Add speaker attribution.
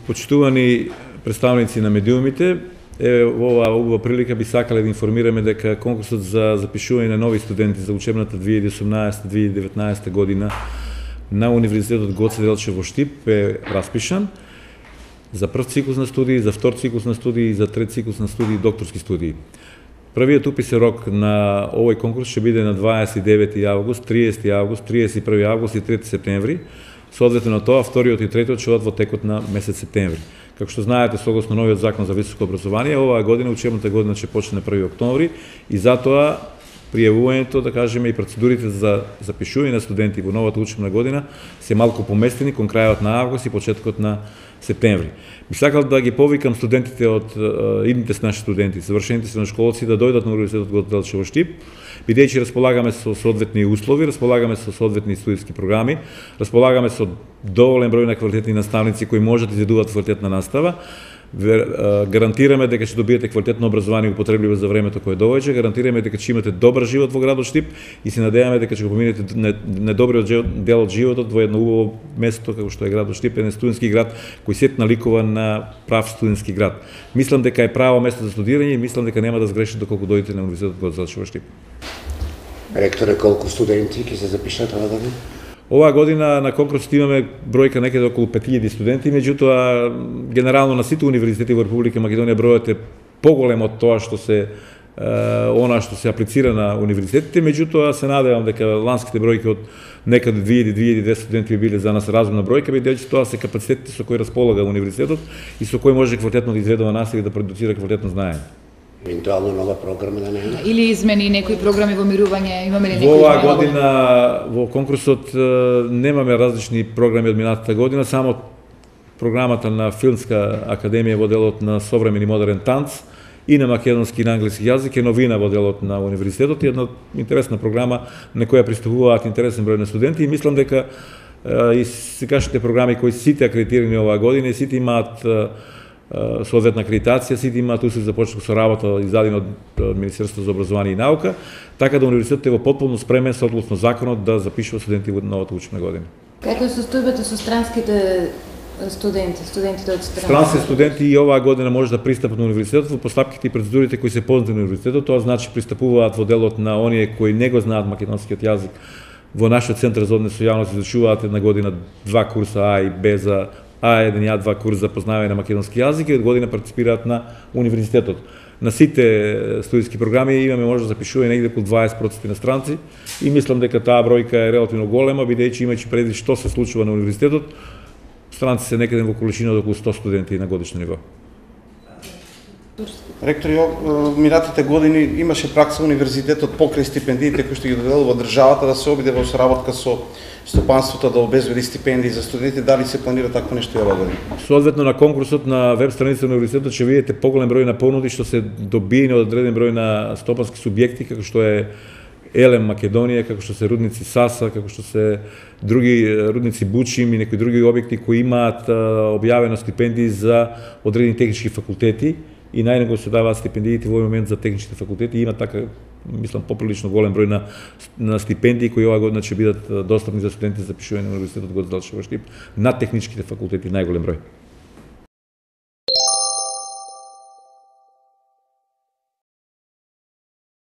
Speaker 1: Почитувани представници на медиумите, во оваа убава прилика би сакале да информираме дека конкурсот за запишување на нови студенти за учебната 2018-2019 година на Универзитетот Гоце Делчев во Штип е распишан за прв циклус на студии, за втор циклус на студии и за трет циклус на студии и докторски студии. Првиот уписен рок на овој конкурс ќе биде на 29 август, 30 август, 31 август и 3 септември. Соодветно на тоа, вториот и третиот ќе одат во текот на месец септември. Како што знаете, согласно новиот закон за високо образование, оваа година, учебната година ќе почне на 1 октомври и затоа пријавувањето, да кажеме, и процедурите за запишување на студенти во новата учебна година се малку поместени кон крајот на август и почетокот на септември. Би сакал да ги повикам студентите од идните наши студенти, завршените средношколци да дојдат на Универзитетот Гоце Делчев во Штип, бидејќи располагаме со соодветни услови, располагаме со соодветни студиски програми, располагаме со доволен број на квалитетни наставници кои можат да изведуваат квалитетна настава. Гарантираме дека ќе добиете квалитетно образование и употребливо за времето кое доаѓа, гарантираме дека ќе имате добар живот во градот Штип и се надеваме дека ќе го поминете недобриот дел од животот во едно убаво место како што е градот Штип, еден студентски град кој сет наликува на прав студентски град. Мислам дека е право место за студирање и мислам дека нема да сгрешите доколку дојдете на Универзитетот Гоце Делчев во Штип.
Speaker 2: Ректоре, колку студенти ќе се запишат оваа година?
Speaker 1: Оваа година на конкурсот имаме бројка некаде околу 5000 студенти, меѓутоа генерално на сите универзитети во Република Македонија бројот е поголем од тоа што се се аплицира на универзитетите, меѓутоа се надевам дека ланските бројки од некаде 2000-2200 студенти би биле за нас разумна бројка, бидејќи тоа се капацитетите со кои располага универзитетот и со кои може квалитетно да изведува настава и да продуцира квалитетно знаење.
Speaker 2: Евентуално нова програма да нема?
Speaker 3: Или измени некои програми во мирување, имаме ли некои?
Speaker 1: Во оваа година во конкурсот немаме различни програми од минатата година, само програмата на Филмска академија во делот на современ и модерен танц и на македонски и на англиски јазик е новина во делот на универзитетот и една интересна програма на која пристапуваат интересен број на студенти и мислам дека и сегашните програми кои сите акредитирани оваа година и сите имаат соодветна акредитација, сите имаат услови за почеток со работа издадени од Министерството за образование и наука, така да универзитетот е во потполно спремен согласно законот да запишува студенти во новата учебна година.
Speaker 3: Како е состојбата со странските студентите од страна?
Speaker 1: Странски студенти и оваа година може да пристапат на универзитетот во постапките и процедурите кои се познати на универзитетот, тоа значи пристапуваат во делот на оние кои не го знаат македонскиот јазик. Во нашиот центар за однос со јавност изучуваат една година 2 курса А и Б за А1 и А2 курс за познавање на македонски јазик и од година партиципираат на универзитетот. На сите студиски програми имаме може да запишување негде околу 20% на странци и мислам дека таа бројка е релативно голема, бидејќи имајќи предвид што се случува на универзитетот, странци се некаде во количина од околу 100 студенти на годишно ниво.
Speaker 4: Ректори, минатите години имаше пракса универзитетот покрај стипендиите кои што ги доделува државата да се обиде во соработка со стопанството да обезбеди стипендии за студенти, дали се планира такво нешто и оваа година?
Speaker 1: Соодветно на конкурсот на веб страницата на универзитетот ќе видите поголем број на понуди што се добиени од одреден број на стопански субјекти како што е Елем Македонија, како што се рудници Саса, како што се други рудници Бучим и некои други објекти кои имаат објавено стипендии за одредени технички факултети и најнего се даваат стипендиите во овој момент за техничките факултети. Има така, мислам, поприлично голем број на стипендии кои оваа година ќе бидат достапни за студенти за запишување на Универзитетот Гоце Делчев во Штип на техничките факултети, најголем број.